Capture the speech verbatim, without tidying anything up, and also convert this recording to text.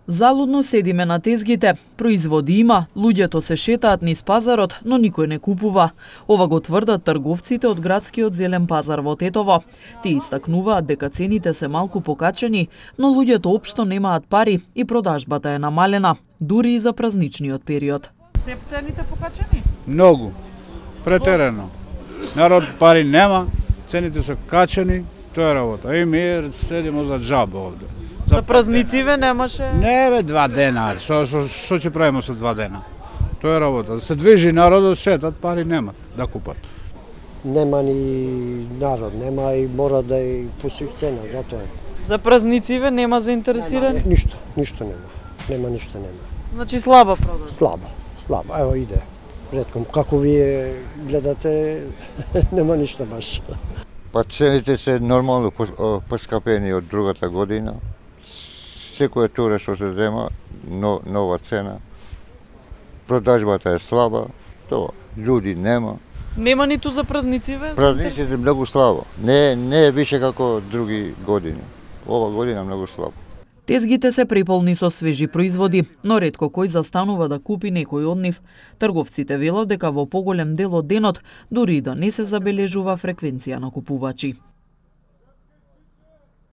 Залудно седиме на тезгите. Производи има, луѓето се шетаат низ пазарот, но никој не купува. Ова го тврдат трговците од градскиот зелен пазар во Тетово. Тие истакнуваат дека цените се малку покачени, но луѓето општо немаат пари и продажбата е намалена, дури и за празничниот период. Се цените покачени? Многу. Претерано. Народ пари нема, цените се качени, тоа е работа. И ми седимо за џаба овде. За празнициве немаше? Не бе, два дена. Што што што ќе правиме со два дена? Тоа е работа. Се движи народот, шетат, пари немат да купат. Нема ни народ, нема и мора да и посуи цена, затоа е. За празнициве нема заинтересирани? Нема, ништо, ништо нема. Нема ништо нема. Значи слаба продажба? Слаба, слаба. Ево иде. Ретком, како вие гледате, нема ништо баш. Па цените се нормално поскапени од другата година. Секоја тура што се зема, но, нова цена. Продажбата е слаба, тоа, луѓе нема. Нема ниту за празнициве? Празниците многу слабо. Не, не е више како други години. Ова година многу слабо. Тезгите се преполни со свежи производи, но ретко кој застанува да купи некој од нив. Трговците велат дека во поголем дел од денот дури и да не се забележува фреквенција на купувачи.